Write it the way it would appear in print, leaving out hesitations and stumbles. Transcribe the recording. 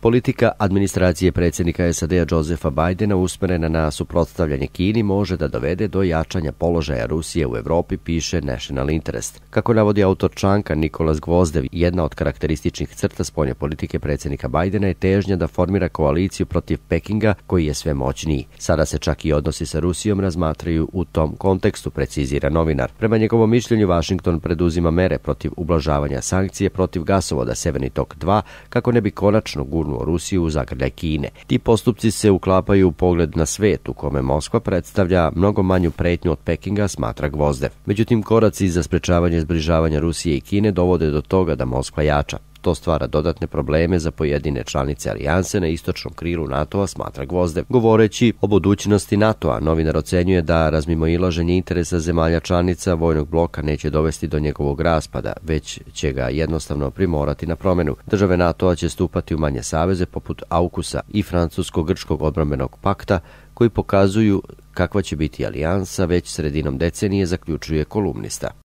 Politika administracije predsjednika SAD-a Josepha Bidena usmerena na suprotstavljanje Kini može da dovede do jačanja položaja Rusije u Evropi, piše National Interest. Kako navodi autor članka Nikolas Gvozdev, jedna od karakterističnih crta spoljne politike predsjednika Bidena je težnja da formira koaliciju protiv Pekinga koji je sve moćniji. Sada se čak i odnosi sa Rusijom razmatraju u tom kontekstu, precizira novinar. Prema njegovom mišljenju, Washington preduzima mere protiv ublažavanja sankcije protiv gasovoda Severni tok 2 kako ne bi konačno gurnuo Rusiju u zagrljaj Kine. Ti postupci se uklapaju u pogled na svet u kome Moskva predstavlja mnogo manju pretnju od Pekinga, smatra Gvozdev. Međutim, koraci za sprečavanje zbližavanja Rusije i Kine dovode do toga da Moskva jača. To stvara dodatne probleme za pojedine članice alijanse na istočnom krilu NATO-a, smatra Gvozdev. Govoreći o budućnosti NATO-a, novinar ocenjuje da razmimoilaženje interesa zemalja članica vojnog bloka neće dovesti do njegovog raspada, već će ga jednostavno primorati na promenu. Države NATO-a će stupati u manje saveze poput AUKUS-a i Francusko-Grčkog odbrambenog pakta, koji pokazuju kakva će biti alijansa već sredinom decenije, zaključuje kolumnista.